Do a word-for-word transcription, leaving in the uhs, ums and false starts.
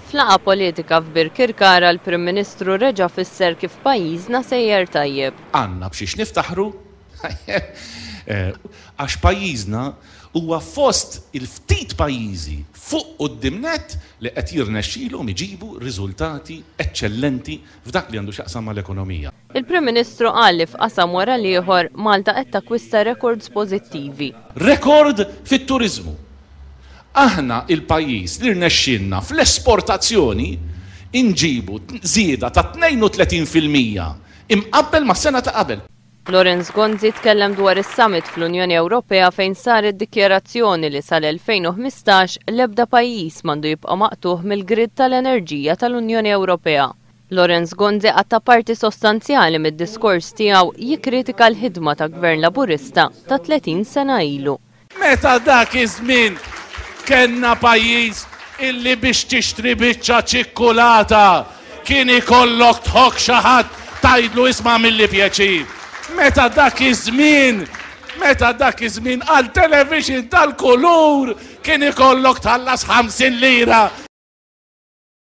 F'laqgħa politika f'Birkirkara, l-Prim Ministru reġa' fisser kif pajjiżna sejjer tajjeb. Għandna b'xiex niftaħru għax pajjiżna huwa fost il-ftit pajjiżi fuq quddiem nett li qed jirnexxilhom iġibu riżultati eċċellenti f'dak li għandu x'jaqsam mal-ekonomija. Il-Prim Ministru qal li f'qasam wara l-ieħor Malta qed takkwista rekords pożittivi. Rekord fit-turiżmu. Aħna il-pajjiż li rnexxilna fl-esportazzjoni inġibu żieda ta' tnejn u tletin fil-mija imqabbel ma' sena ta' qabel. Lawrence Gonzi tkellem dwar is-summit fl-Unjoni Ewropea fejn saret dikjarazzjoni li sal-elfejn u ħmistax l-ebda pajjiż m'għandu jibqa' maqtugħ mill-grid tal-enerġija tal-Unjoni Ewropea. Lawrence Gonzi qatta' parti sostanzjali mid-diskors tiegħu jikkritika l-ħidma ta' Gvern Laburista ta' tletin sena ilu. Meta dak iż-żmien kellna pajjiż illi biex tixtri biċċa ċikkulata kien ikollok tħokk xi ħadd, tgħidlu, "Isma', agħmilli pjaċir." Meta dak iż-żmien, meta dak iż-żmien għal television tal-kulur kien ikollok tħallas ħamsin lira.